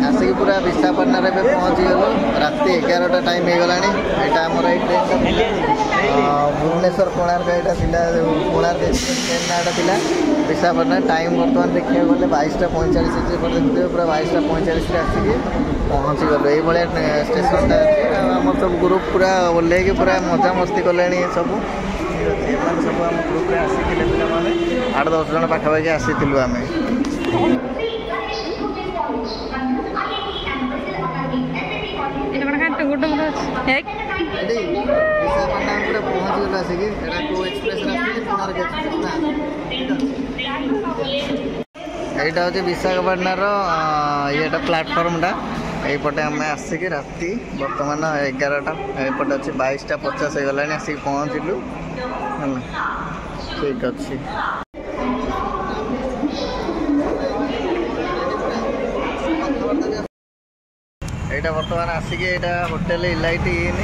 ଆସିକି ପୁରା ବିଶାଖାପାଟଣାରେ ଏବେ ପହଞ୍ଚିଗଲୁ। ରାତି 11ଟା ଟାଇମ୍ ହେଇଗଲାଣି। ଏଇଟା ଆମର ଏଇ ଟ୍ରେନ୍ଟା ଥିଲା ଭୁବନେଶ୍ୱର କୋଣାର୍କ, ଏଇଟା ଥିଲା କୋଣାର୍କ ଏକ୍ସପ୍ରେସ୍ ଟ୍ରେନ୍ ନାଁଟା ଥିଲା ବିଶାଖାପାଟଣା। ଟାଇମ୍ ବର୍ତ୍ତମାନ ଦେଖିବାକୁ ଗଲେ 22ଟା 45 ଅଛି। ଏପଟେ ଦେଖୁଥିବେ ପୁରା 22ଟା 45ରେ ଆସିକି ପହଞ୍ଚିଗଲୁ। ଏଇଭଳିଆ ଷ୍ଟେସନଟା ଅଛି। ଆଉ ଆମର ସବୁ ଗ୍ରୁପ୍ ପୁରା ଓହ୍ଲେଇକି ପୁରା ମଜାମସ୍ତି କଲେଣି ସବୁ। ଠିକ୍ ଅଛି, ଏମାନେ ସବୁ ଆମ ଗ୍ରୁପ୍ରେ ଆସିଥିଲେ ପିଲାମାନେ, 8-10 ଜଣ ପାଖାପାଖି ଆସିଥିଲୁ ଆମେ। ଏଇଟା କଣ କାଟ ଗୋଟେ ଅଛି। ଏଠି ବିଶାଖାପାଟଣା ପୁରା ପହଞ୍ଚିଗଲୁ ଆସିକି। ଏଇଟା କୋଉ ଏକ୍ସପ୍ରେସରେ ଆସିଥିଲି? କୋଣାର୍କ ଏକ୍ସପ୍ରେସ୍ ନା? ଠିକ୍ ଅଛି। ଏଇଟା ହେଉଛି ବିଶାଖାପାଟଣାର ଇଏଟା, ପ୍ଲାଟଫର୍ମଟା। ଏଇପଟେ ଆମେ ଆସିକି ରାତି ବର୍ତ୍ତମାନ 11ଟା, ଏପଟେ ଅଛି 22ଟା 50 ହେଇଗଲାଣି, ଆସିକି ପହଞ୍ଚିଲୁ। ହେଲା, ଠିକ୍ ଅଛି। ଏଇଟା ବର୍ତ୍ତମାନ ଆସିକି ଏଇଟା ହୋଟେଲ ଇଲାଇଟ୍ ଇନ୍।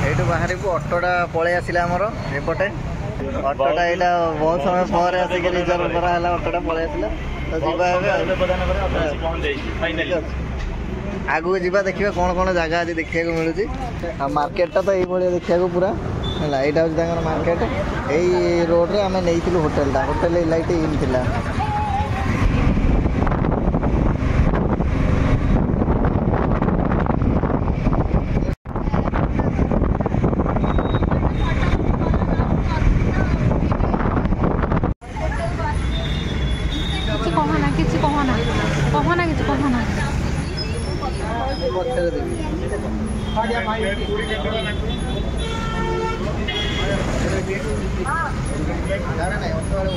ଏଇଠୁ ବାହାରିବୁ। ଅଟୋଟା ପଳେଇ ଆସିଲା ଆମର ଏପଟେ। ଅଟୋଟା ଏଇଟା ବହୁତ ସମୟ ପରେ ଆସିକି ରିଜର୍ଭ କରାହେଲା, ଅଟୋଟା ପଳେଇ ଆସିଲା। ତ ଯିବା ଏବେ ଆଉ। ଠିକ୍ ଅଛି, ଆଗକୁ ଯିବା, ଦେଖିବା କ'ଣ କ'ଣ ଜାଗା ଆଜି ଦେଖିବାକୁ ମିଳୁଛି। ଆଉ ମାର୍କେଟଟା ତ ଏଇଭଳିଆ ଦେଖିବାକୁ ପୁରା। ହେଲା, ଏଇଟା ହେଉଛି ତାଙ୍କର ମାର୍କେଟ। ଏଇ ରୋଡ଼ରେ ଆମେ ନେଇଥିଲୁ ହୋଟେଲଟା, ହୋଟେଲ ଇଲାଇଟ୍ ଇନ୍ ଥିଲା। କିଛି କହନା, କିଛି କହନା, କହନା, କିଛି କହନା। ପଛରେ ଦେବି। ଗାଡ଼ି ନାଇଁ, ଅଟୋ ବାଲା।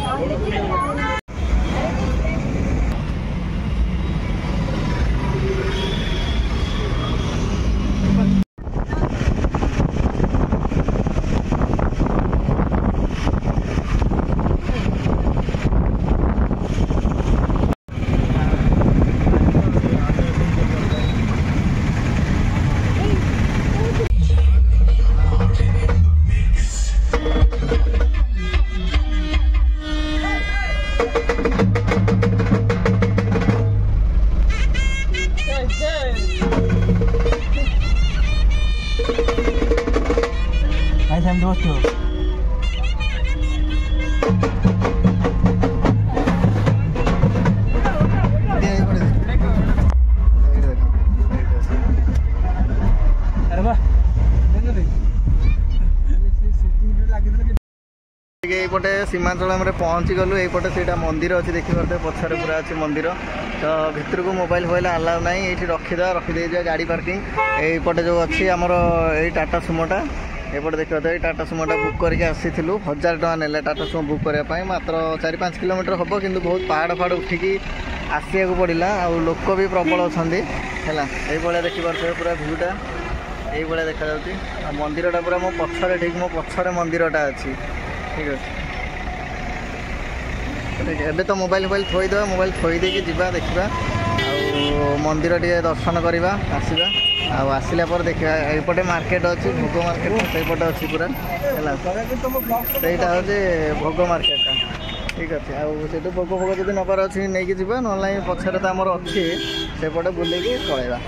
ଭାଇ, ସେମିତି ବସିଥିବ। ଏଇପଟେ ଦେଖ, ଏଇଠି ଦେଖ, ଏଇଠି ଅଛି। ଆରେ ବା, ଟିକେ ଏଇପଟେ ସୀମାଞ୍ଚଳମରେ ପହଞ୍ଚି ଗଲୁ। ଏଇପଟେ ସେଇଟା ମନ୍ଦିର ଅଛି, ଦେଖିପାରୁଥିବେ ପଛରେ ପୁରା ଅଛି ମନ୍ଦିର। ତ ଭିତରକୁ ମୋବାଇଲ ଫୋବାଇଲ ଆଲାଉ ନାହିଁ, ଏଇଠି ରଖିଦେବା, ରଖିଦେଇଯିବା ଗାଡ଼ି ପାର୍କିଂ। ଏଇପଟେ ଯେଉଁ ଅଛି ଆମର ଏଇ ଟାଟା ସୁମୋଟା, ଏପଟେ ଦେଖିପାରୁଥିବେ, ଏଇ ଟାଟା ସୁମୋଟା ବୁକ୍ କରିକି ଆସିଥିଲୁ। 1000 ଟଙ୍କା ନେଲେ ଟାଟା ସୁମୋ ବୁକ୍ କରିବା ପାଇଁ। ମାତ୍ର 4-5 କିଲୋମିଟର ହେବ, କିନ୍ତୁ ବହୁତ ପାହାଡ଼ ଫାହାଡ଼ ଉଠିକି ଆସିବାକୁ ପଡ଼ିଲା ଆଉ ଲୋକ ବି ପ୍ରବଳ ଅଛନ୍ତି। ହେଲା, ଏଇଭଳିଆ ଦେଖିପାରୁଥିବେ ପୁରା ଭିଉଟା ଏଇଭଳିଆ ଦେଖାଯାଉଛି। ଆଉ ମନ୍ଦିରଟା ପୁରା ମୋ ପଛରେ, ଠିକ୍ ମୋ ପଛରେ ମନ୍ଦିରଟା ଅଛି। ଠିକ୍ ଅଛି, ଠିକ୍। ଏବେ ତ ମୋବାଇଲ ଫୋବାଇଲ ଥୋଇଦେବା, ମୋବାଇଲ ଥୋଇ ଦେଇକି ଯିବା, ଦେଖିବା ଆଉ ମନ୍ଦିର ଟିକେ ଦର୍ଶନ କରିବା ଆସିବା। ଆଉ ଆସିଲା ପରେ ଦେଖିବା, ଏଇପଟେ ମାର୍କେଟ ଅଛି, ଭୋଗ ମାର୍କେଟ ସେଇପଟେ ଅଛି ପୁରା। ହେଲା, ସେଇଟା ହେଉଛି ଭୋଗ ମାର୍କେଟଟା। ଠିକ୍ ଅଛି, ଆଉ ସେଇଠୁ ଭୋଗ ଫୋଗ ଯଦି ନେବାର ଅଛି ନେଇକି ଯିବା, ନହେଲେ ନାହିଁ ପଛରେ ତ ଆମର ଅଛି, ସେପଟେ ବୁଲିକି ପଳେଇବା।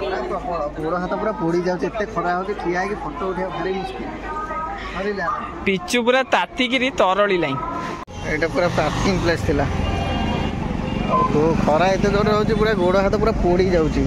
ଖରା ପ୍ରବଳ, ଗୋଡ଼ ହାତ ପୁରା ପୋଡ଼ି ଯାଉଛି, ଏତେ ଖରା ହେଉଛି। ଠିଆ ହେଇକି ଫଟୋ ଉଠେଇବା ଭାରି ମୁସ୍କିଲ। ସରିଲା। ପିଚୁ ପୁରା ତାତିକିରି ତରଳିଲାଇଁ। ଏଇଟା ପୁରା ପାର୍କିଂ ପ୍ଲେସ୍ ଥିଲା। ଆଉ ଖରା ଏତେ ଜୋରରେ ହେଉଛି, ପୁରା ଗୋଡ଼ ହାତ ପୁରା ପୋଡ଼ି ଯାଉଛି।